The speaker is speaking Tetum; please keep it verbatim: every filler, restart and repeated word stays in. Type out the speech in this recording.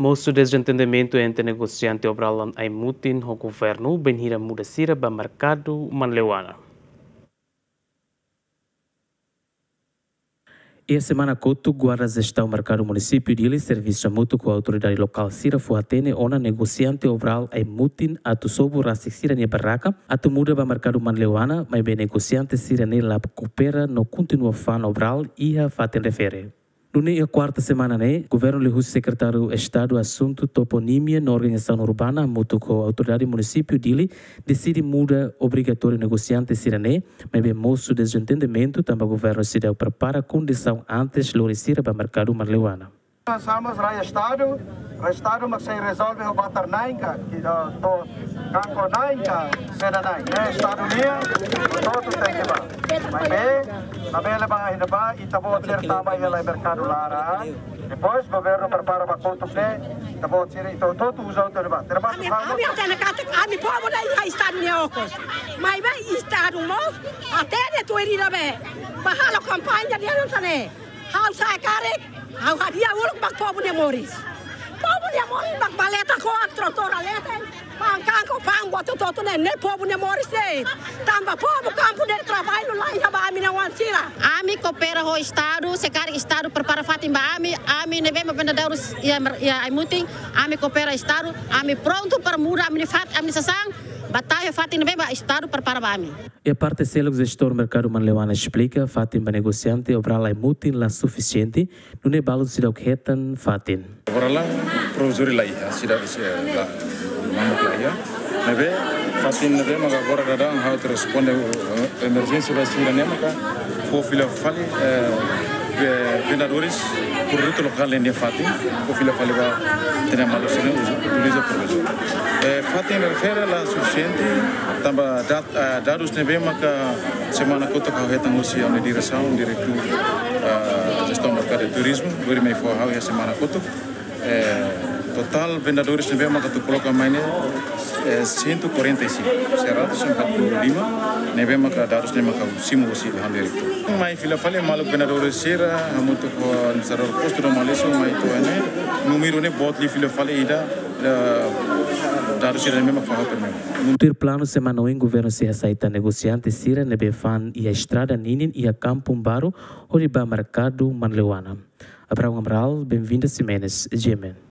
Mosu dezentendimentu entre negosiante Obral Ai-mutin ho governu bainhira muda sira ba merkadu Manleuana. Iha semana kotuk, Guarda Jestaun Merkadu Munisípiu Dili servisu hamutuk ho autoridade lokál sira fó-hatene ona negosiante Obral Ai-mutin atu sobu rasik sira-nia barraka atu muda ba merkadu Manleuana, maibé negosiante sira-ne'e la koopera no kontinua fa'an obral iha fatin refere. Nune'e iha kuarta semana ne'e, governu liuhusi Sekretáriu Estadu Asuntu Toponímia no Organizasaun Urbana hamutuk ho autoridade munisípiu Dili deside muda obrigatóriu negosiante sira-ne'e, maibé mosu dezentendimentu tanba governu seidauk prepara kondisaun antes lori sira ba merkadu Manleuana. Sama rai Estadu, rai Estadu mak sei rezolve ho batar na'in ka, ki, eh, to'o kanko na'in ka, saida na'in. Ne'e Estadu nian, hotu-hotu tenke bá. Maibé, labele bá, ita-boot sira tama iha lai merkadu laran. Depois governu prepara ba kotuk ne'e, ita-boot sira, ita hotu-hotu uza hotu bá. Termasuk ami, ha'u, ami hatene katak ami povu ida iha Estadu nia okos. Maibé Estadu mós hatene tuir ida be. Bá halo kampaña dehan hanesan ne'e. Ha'u sa'e karik, ha'u hadi'a uluk ba povu nia moris. Povu nia moris ba maleta ko'ak, tratór leten, fa'an kanko, fa'an buat hotu-hotu ne'e, ne'e povu nia moris de'it. Tanba povu kampu de'it, traballu la iha ba ami-nia oan sira. Ami koopera ho Estadu, se karik Estadu prepara fatin ba ami, ami ne'ebé mak vendedores iha mer-, iha Ai-mutin, ami koopera Estadu, ami prontu para muda ami-nia fat-, ami-nia sasán, ba tau iha fatin ne'ebé mak Estadu prepara ba ami. Iha parte seluk, jestór merkadu Manleuana esplika, fatin ba negosiante Obral Ai-mutin la sufisiente, nune'e balun seidauk hetan fatin. Agora la, provizóriu la iha, seidauk, eh, la, mamuk la iha. Ne'ebé, fatin ne'ebé maka agora daudaun ha'u atu responde, eh, emerjénsia ba sira-ne'e maka fó fila fali, eh, ve-, vendedores, produtu lokál nian fatin, fó fila fali ba ita-nia maluk sira-ne'e uza, utiliza provizóriu. Eh, fatin refere la sufisiente, tanba dat-, eh, dadus ne'ebé maka semana kotuk ha'u hetan husi ami-nia diresaun, diretór, eh, jestaun merkadu turizmu, lori mai fó ha'u iha semana kotuk. Eh, totál vendedores ne'ebé maka atu koloka mai ne'e, eh, cento e quarenta e cinco, seratus empat puluh lima, ne'ebé maka dadus ne'e maka simu husi ha'u-nia diretór. Mai fila fali maluk vendedores sira, hamutuk ho administradór postu no malisu, mai to'o ne'e, númeru ne'e boot liu fila fali ida, da-, dadus sira-ne'e mak fó ha'u primeiru. Tuir planu semana oin governu sei hasai tan negosiante sira ne'ebé fa'an iha estrada ninin iha Kampung Baru, hodi ba merkadu Manleuana. Abraão Amaral, Benvinda Ximenes, G M N.